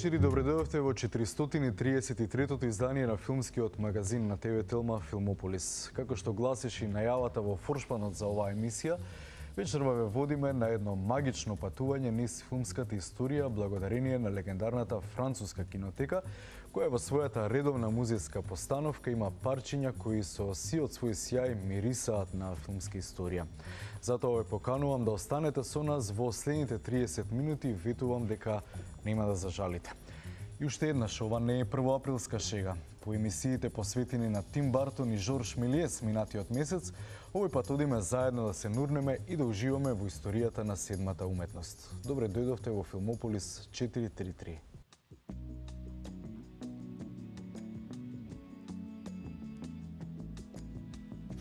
вечер и добре дојдовте во 433-тото издание на филмскиот магазин на ТВ Телма Филмополис. Како што гласеше најавата во форшпанот за оваа емисија, вечерва ве водиме на едно магично патување низ филмската историја благодарение на легендарната француска кинотека, која во својата редовна музејска постановка има парчиња кои со сиот свој сјај мирисаат на филмска историја. Затоа ве поканувам да останете со нас во следните 30 минути и ветувам дека нема да зажалите. И уште еднаш, ова не е првоаприлска шега. По емисиите посветени на Тим Бартон и Жорж Милиес минатиот месец, овој пат одиме заедно да се нурнеме и да уживаме во историјата на седмата уметност. Добре дојдовте во Филмополис 433.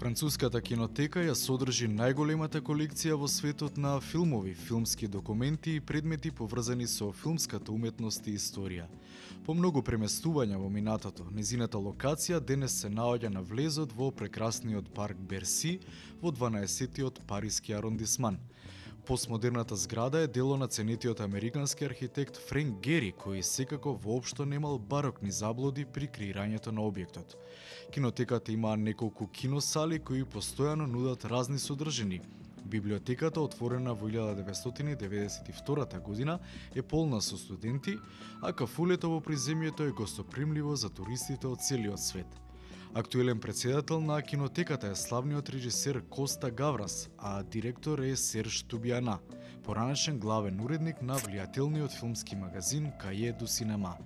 Француската кинотека ја содржи најголемата колекција во светот на филмови, филмски документи и предмети поврзани со филмската уметност и историја. По многу преместувања во минатото, незината локација денес се наоѓа на влезот во прекрасниот парк Берси во 12-тиот париски арондисман. Постмодерната зграда е дело на ценетиот американски архитект Френк Гери, кој секако воопшто немал барокни заблуди при креирањето на објектот. Кинотеката има неколку киносали кои постојано нудат разни содржини. Библиотеката, отворена во 1992 година, е полна со студенти, а кафулето во приземјето е гостопримливо за туристите од целиот свет. Актуелен претседател на кинотеката е славниот режисер Коста Гаврас, а директор е Серж Тубиана, поранешен главен уредник на влијателниот филмски магазин Каје ду Синема.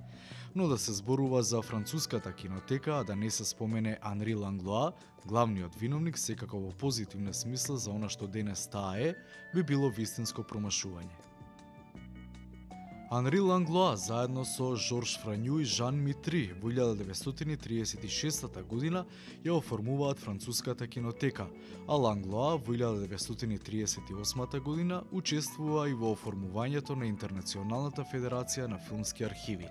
Но да се зборува за француската кинотека, а да не се спомене Анри Ланглоа, главниот виновник секако во позитивна смисла за она што денес таа е, би било вистинско промашување. Анри Ланглоа заедно со Жорж Франју и Жан Митри во 1936 година ја оформуваат француската кинотека, а Ланглоа во 1938 година учествува и во оформувањето на Интернационалната федерација на филмски архиви.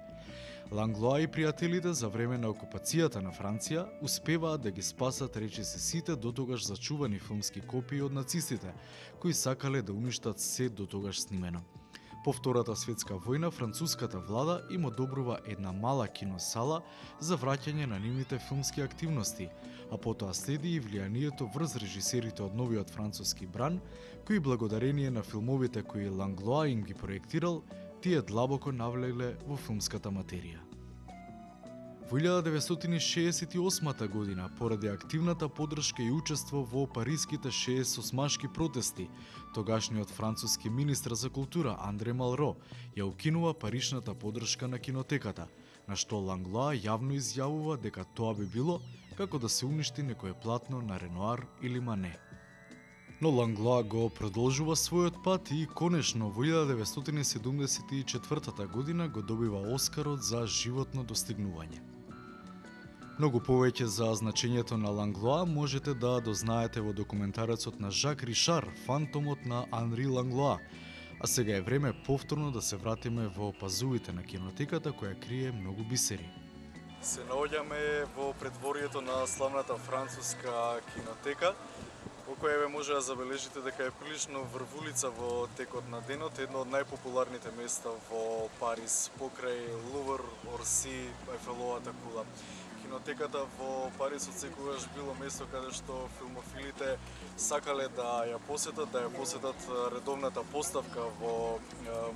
Ланглоа и пријателите за време на окупацијата на Франција успеваат да ги спасат речиси сите дотогаш зачувани филмски копии од нацистите, кои сакале да уништат се дотогаш снимено. По Втората светска војна, француската влада им одобрува една мала киносала за враќање на нивните филмски активности, а потоа следи и влијанието врз режисерите од новиот француски бран, кои благодарение на филмовите кои Ланглоа им ги проектирал, тие длабоко навлегле во филмската материја. Во 1968 година, поради активната поддршка и учество во париските 68-машки протести, тогашниот француски министр за култура Андре Малро ја укинува паричната поддршка на кинотеката, на што Ланглоа јавно изјавува дека тоа би било како да се уништи некое платно на Ренуар или Мане. Но Ланглоа го продолжува својот пат и конечно во 1974 година го добива Оскарот за животно достигнување. Многу повеќе за значењето на Ланглоа можете да дознаете во документарецот на Жак Ришар, Фантомот на Анри Ланглоа. А сега е време повторно да се вратиме во пазувите на кинотеката која крие многу бисери. Се наоѓаме во предворието на славната француска кинотека, во која ве може да забележите дека е прилично врвулица во текот на денот, едно од најпопуларните места во Париз, покрај Лувр, Орси, Ефеловата кула. Кинотеката во Париз отсекогаш било место каде што филмофилите сакале да ја посетат редовната поставка во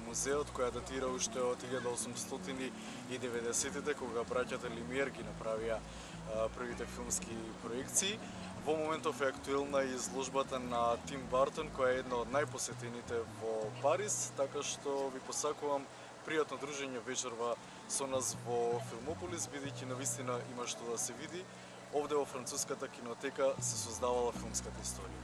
музеот, која датира уште од 1890-тите, кога браќата Лимиер ги направија првите филмски проекции. Во моментов е актуелна изложбата на Тим Бартон, која е една од најпосетените во Париз, така што ви посакувам пријатно дружење вечерва со нас во Филмополис, бидејќи навистина има што да се види. Овде во француската кинотека се создавала филмската историја.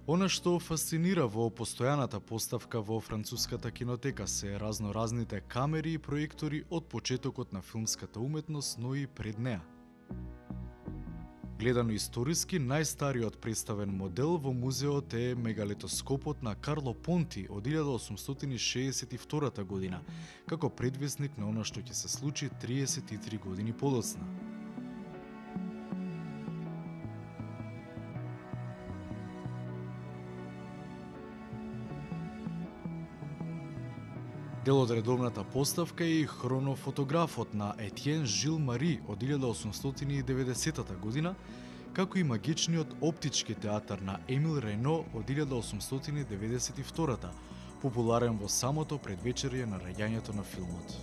Она што фасцинира во постојаната поставка во француската кинотека се разноразните камери и проектори од почетокот на филмската уметност, но и пред неа. Гледано историски, најстариот представен модел во музеот е мегалетоскопот на Карло Понти од 1862 година, како предвесник на она што ќе се случи 33 години подоцна. Дел од редовната поставка е и хронофотографот на Етиен Жил Мари од 1890 година, како и магичниот оптички театар на Емил Рено од 1892, популарен во самото предвечерје на раѓањето на филмот.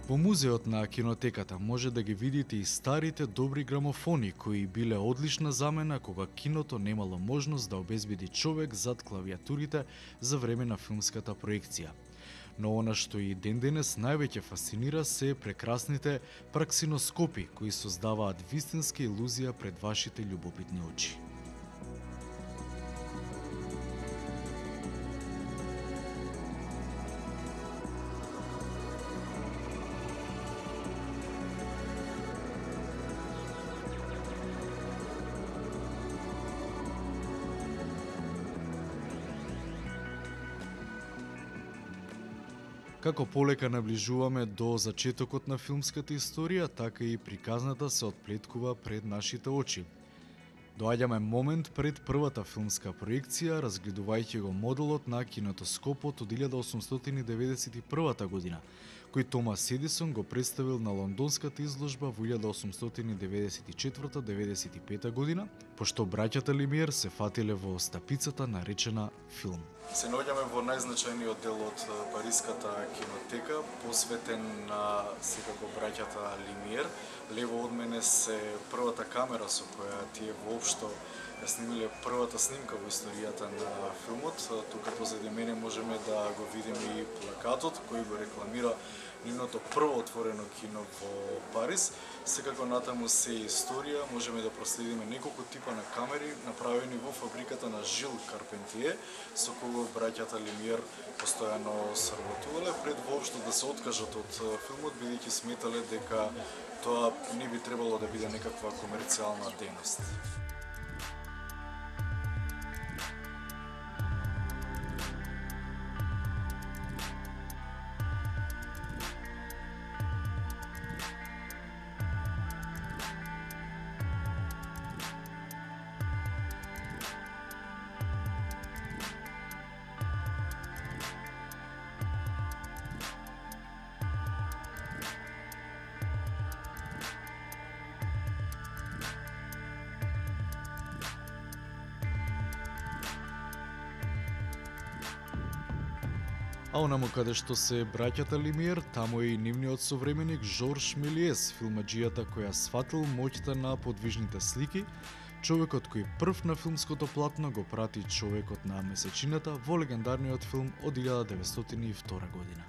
Во музеот на кинотеката може да ги видите и старите добри грамофони, кои биле одлична замена кога киното немало можност да обезбеди човек зад клавиатурите за време на филмската проекција. Но она што и ден-денес највеќе фасцинира се прекрасните праксиноскопи, кои создаваат вистинска илузија пред вашите љубопитни очи. Како полека наближуваме до зачетокот на филмската историја, така и приказната се отплеткува пред нашите очи. Доаѓаме момент пред првата филмска проекција, разгледувајќи го моделот на кинетоскопот од 1891 година, кој Томас Едисон го представил на лондонската изложба во 1894-95 година, пошто браќата Лимиер се фатиле во стапицата наречена филм. Се наоѓаме во најзначајниот дел од Париската кинотека, посветен на секако браќата Лимиер. Лево од мене се првата камера со која тие воопшто ја снимиле првата снимка во историјата на филмот. Тука позади мене можеме да го видиме и плакатот кој го рекламира нивното прво отворено кино во Париз. Секако натаму се историја, можеме да проследиме неколку типа на камери направени во фабриката на Жил Карпентие, со кого браќата Лимиер постојано соработувале пред воопшто да се откажат од филмот, бидејќи сметале дека тоа не би требало да биде некаква комерцијална дејност. А онаму каде што се браќата Лимиер, таму е и нивниот современик Жорж Мелиес, филмаџијата која сфатил моќта на подвижните слики, човекот кој прв на филмското платно го прати човекот на месечината во легендарниот филм од 1902 година.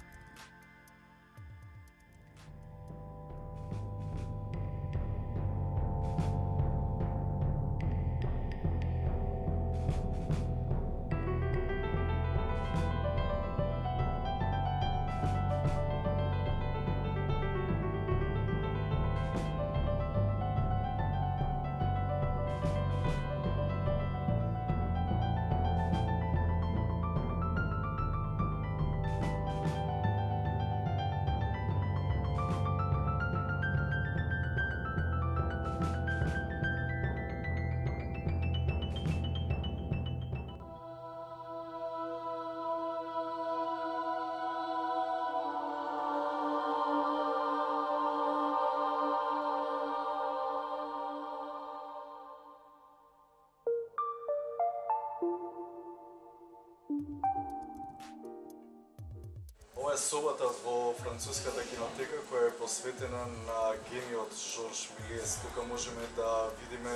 Ова е собата во француската кинотека која е посветена на гениот Жорж Мелиес. Тука можеме да видиме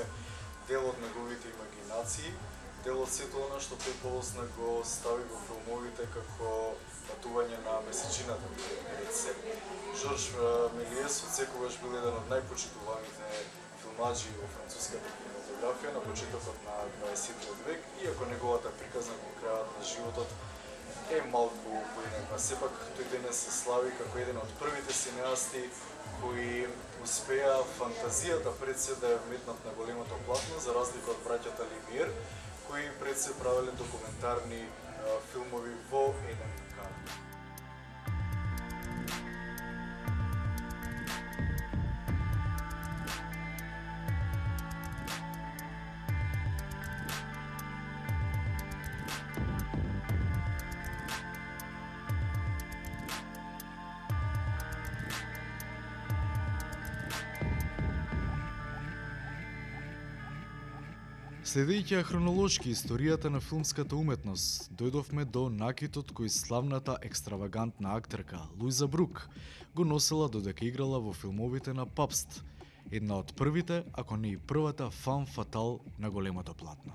дел од неговите имагинации, дел од сето она што тој полосна го стави во филмовите како патување на месечината пред себе. Жорж Мелиес одсекогаш бил еден од најпочитуваните филмаџи во француската кинематографија на почетокот на 20 век, иако неговата приказна во крајот на животот е малку поинаква. Сепак тој денес се слави како еден од првите синеасти кои успеа фантазијата пред се да ја вметнат на големото платно, за разлика од браќата Лимиер, кои пред се правеле документарни филмови во еден кадр. Следејќи ја хронолошки историјата на филмската уметност, дојдовме до накитот кој славната екстравагантна актерка Луиза Брук го носела додека играла во филмовите на Папст, една од првите, ако не и првата фам фатал на големото платно.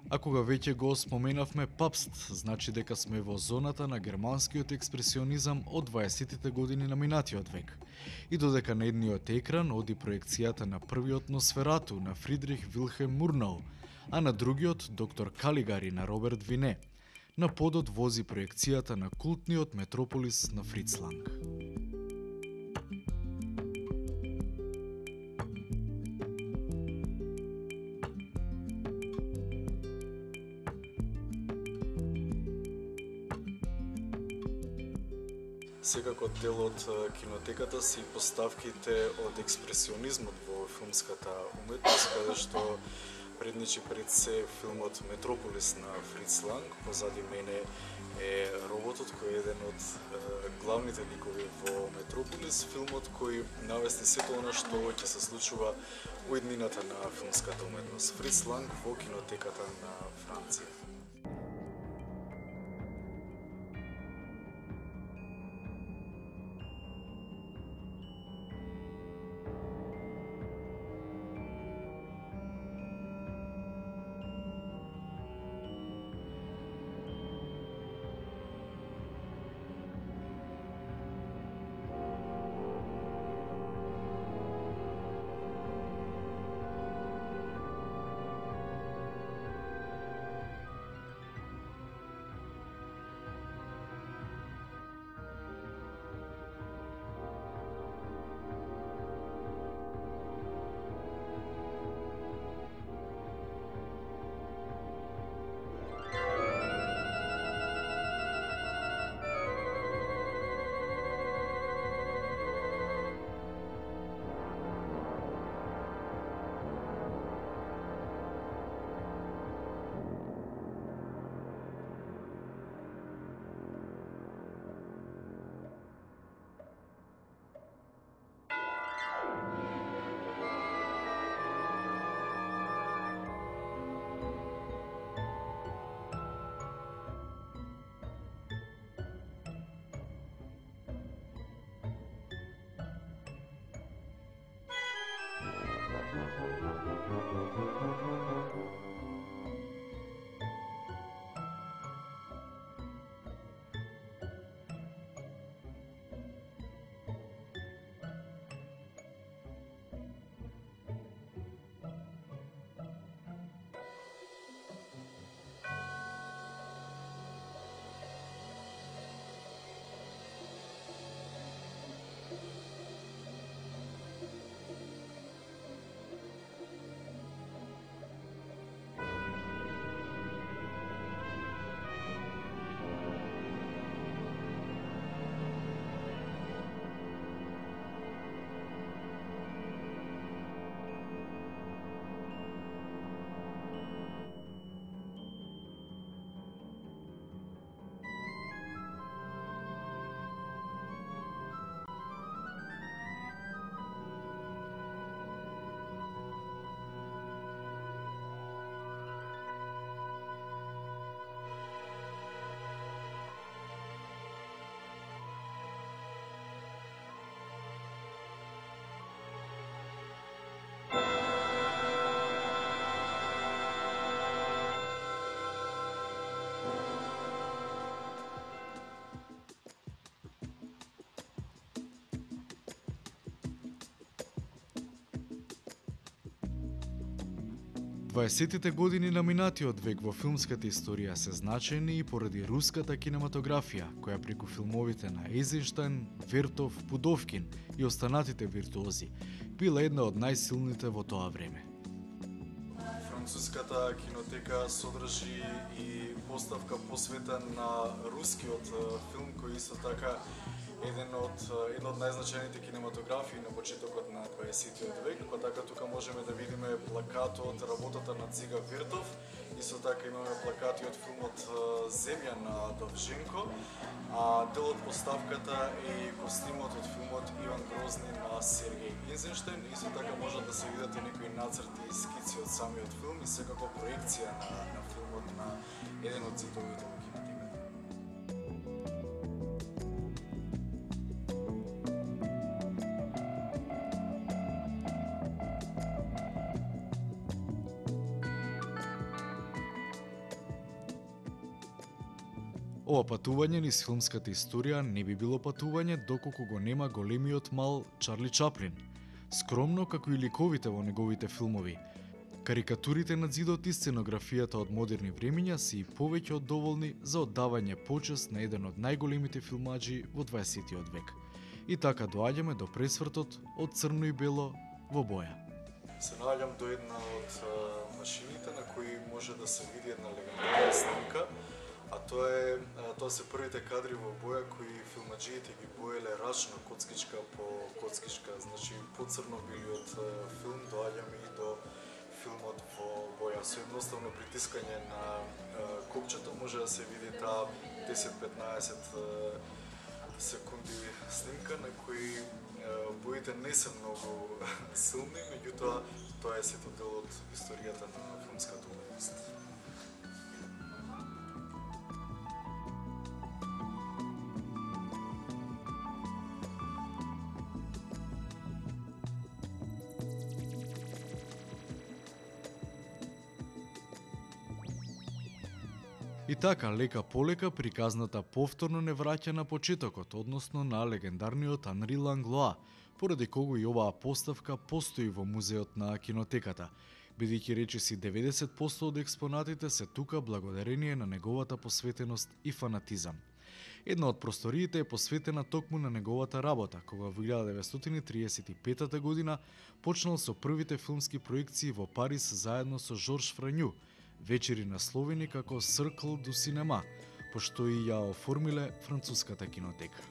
А кога веќе го споменавме Папст, значи дека сме во зоната на германскиот експресионизам од 20-тите години на минатиот век. И додека на едниот екран оди проекцијата на првиот Носферату на Фридрих Вилхелм Мурнау, а на другиот Доктор Калигари на Роберт Вине, на подот вози проекцијата на култниот Метрополис на Фриц Ланг. Секако дел од кинотеката се и поставките од експресионизмот во филмската уметност, каде што предничи пред се филмот Метрополис на Фриц Ланг. Позади мене е роботот кој е еден од главните ликови во Метрополис, филмот кој навести сето она што ќе се случува во иднината на филмската уметност. Фриц Ланг во кинотеката на Франција. Дваесеттите години на минатиот век во филмската историја се значајни и поради руската кинематографија, која преку филмовите на Ейзенштајн, Вертов, Пудовкин и останатите виртуози била една од најсилните во тоа време. Француската кинотека содржи и поставка посветена на рускиот филм, кој исто така едно од најзначајните кинематографии на почетокот на 20-тиот век, па така тука можеме да видиме плакатот работата на Цига Вертов, исто така имаме плакати од филмот Земја на Довженко, а дел од поставката е и костимот од филмот грозни на Сергеј Eisenstein. Исто така можат да се видат и некои нацрти и скици од самиот филм и секако проекција на филмот на еден од зидовите во кинотеката. Ова патување низ филмската историја не би било патување доколку го нема големиот мал Чарли Чаплин. Скромно како и ликовите во неговите филмови, карикатурите на зидот и сценографијата од модерни времиња се и повеќе од доволни за оддавање почест на еден од најголемите филмаџи во 20 век. И така доаѓаме до пресвртот од црно и бело во боја. Се наоѓам до една од машините на кои може да се види една легендарна снимка, а тоа се првите кадри во боја кои филмаџиите ги боеле рачно коцкичка по коцкичка, значи поцрно-белиот филм. Доаѓаме и до филмот во боја. Со едноставно притискање на копчето може да се види таа 10-15 секунди снимка на кои боите не се многу силни, меѓутоа тоа е сето дел од историјата на филмската уметност. И така, лека полека, приказната повторно не враќа на почетокот, односно на легендарниот Анри Ланглоа, поради кого и оваа поставка постои во музеот на кинотеката, бидејќи речиси 90% од експонатите се тука благодарение на неговата посветеност и фанатизам. Една од просториите е посветена токму на неговата работа, кога во 1935 година почнал со првите филмски проекции во Париз заедно со Жорж Франју, вечери насловени како Cercle du Cinéma, пошто и ја оформиле француската кинотека.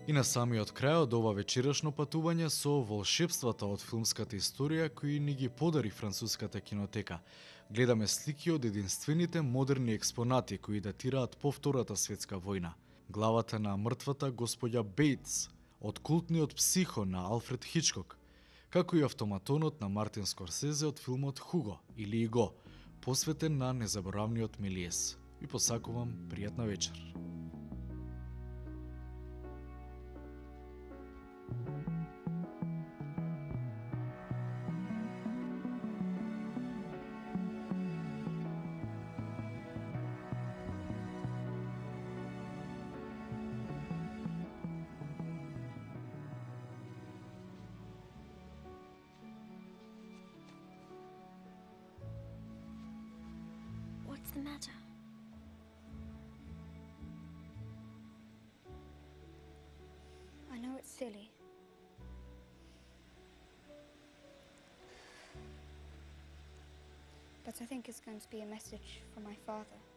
И на самиот крај од ова вечерашно патување со волшебствата од филмската историја кои ни ги подари француската кинотека, гледаме слики од единствените модерни експонати кои датираат по Втората светска војна. Главата на мртвата господја Бейтс од култниот Психо на Алфред Хичкок, како и автоматонот на Мартин Скорсезе од филмот Хуго или Иго, посветен на незаборавниот Мелиес. Ви посакувам пријатна вечер. What's the matter? I know it's silly. But I think it's going to be a message from my father.